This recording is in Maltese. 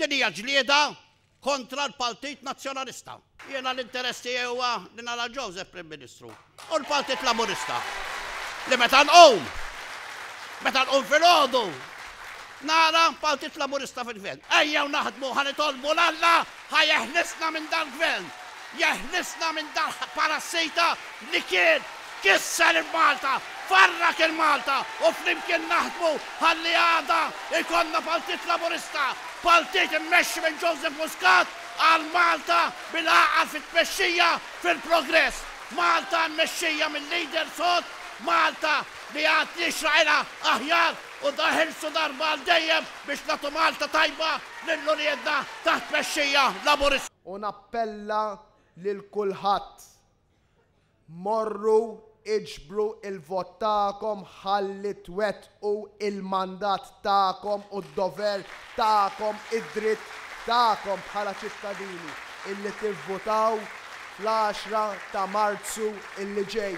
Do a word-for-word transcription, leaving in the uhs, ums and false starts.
Din hija ġlieda kontra l-Partit Nazzjonalista. Jiena l-interess tiegħi huwa li nara Joseph Prim Ministru u l-Partit Laburista. Li meta nqum, meta nqum filgħodu, nara Partit Laburista fil-gvern. Ejjew naħdmu, ħa nitolbu 'l Alla ħa jeħlisna minn dal-gvern. Jeħlisna minn dal parassita li kien kisser il-Malta, farrak il-Malta u flimkien naħdmu ħalli għada ikollna Partit Laburista, partit immexxi minn Joseph Muscat għal Malta bil-għaqal fit-tmexxija fil-progress. Malta mmexxija minn leader sod, Malta li għad jixraqilha aħjar u neħilsu darba għal dejjem biex nagħtu Malta tajba lil uliedna taħt tmexxija Laburista. U nappella lil kulħadd. Morru iġbru il-vot tagħkom ħalli twettqu il-mandat tagħkom u d-dover tagħkom, id-dritt tagħkom bħala ċittadini illi tivvutaw fl-għaxra ta' Marzu illi ġej.